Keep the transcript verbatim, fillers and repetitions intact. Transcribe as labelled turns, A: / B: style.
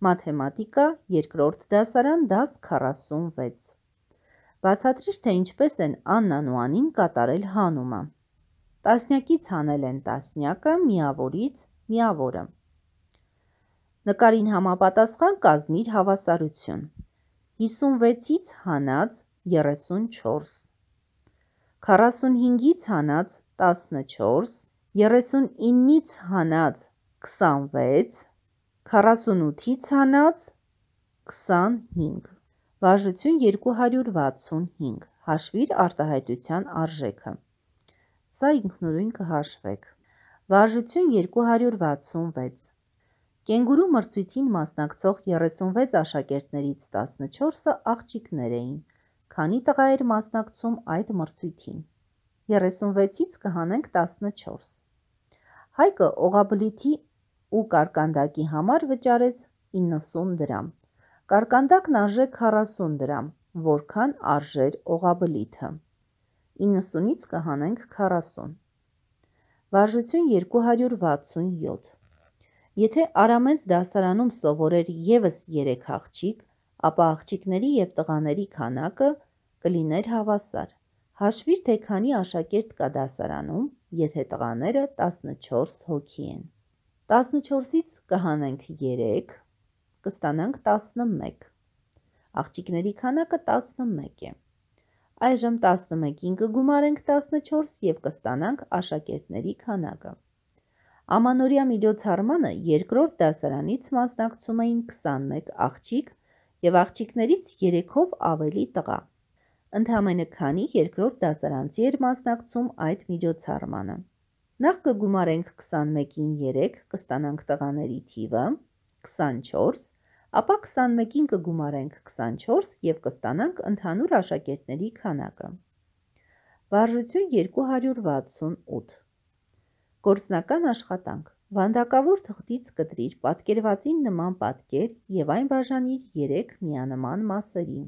A: Մաթեմատիկա, երկրորդ դասարան, դաս քառասունվեց։ Բացատրիր, թե ինչպես են Աննան ու Անին կատարել հանումը։ Տասնյակից հանել են տասնյակը, միավորից միավորը։ Նկարին համապատասխան կազմիր հավասարություն։ հիսունվեցից հանած երեսունչորս, քառասունհինգից հանած տասնչորս, երեսունինից հանած քսանվեց, քառասունութից հանած քսանհինգ։ Վարժություն երկու հարյուր վաթսունհինգ։ Հաշվիր արտահայտության արժեքը։ Սա ինքնուրույն կհաշվեք։ Վարժություն երկու հարյուր վաթսունվեց։ Կենգուրու մրցույթին մասնակցող երեսունվեց աշակերտներից տասնչորսը աղջիկներ էին։ Քանի տղա էր մասնակցում այդ մրցույթին։ երեսունվեցից կհանենք տասնչորս։ Հայկը օղաբլիթի ու կարկանդակի համար վճարեց իննսուն դրամ։ Կարկանդակն արժե քառասուն դրամ, որքան արժեր օղաբլիթը։ իննսունից կհանենք քառասուն։ Վարժություն երկու հարյուր վաթսունյոթ։ Եթե Արամենց դասարանում սովորեր ևս երեք աղջիկ, ապա աղջիկների և տղաների քանակը կլիներ հավասար։ Հաշվիր, թե քանի աշակերտ կա դասարանում, եթե տղաները տասնչորս հոգի են։ տասնչորսից կհանենք երեք, կստանանք տասնմեկ։ Աղջիկների քանակը տասնմեկ է։ Այժմ տասնմեկին կգումարենք տասնչորս և կստանանք աշակերտների քանակը։ Ամանորյա միջոցառմանը երկրորդ դասարանից մասնակցում էին քսանմեկ աղջիկ և աղջիկներից երեքով ավելի տղա։ Ընդամենը քանի երկրորդ դասարանցի էր մասնակցում այդ միջոցառմանը։ Նախ կգումարենք քսանմեկին երեք, կստանանք տղաների թիվը քսանչորս, ապա քսանմեկին կգումարենք քսանչորս և կստանանք ընդհանուր աշակերտների քանակը։ Վարժություն երկու հարյուր վաթսունութ։ Գործնական աշխատանք։ Վանդակավոր թղթից կտրիր պատկերվածին նման պատկեր և այն բաժանիր երեք միանման մասերի։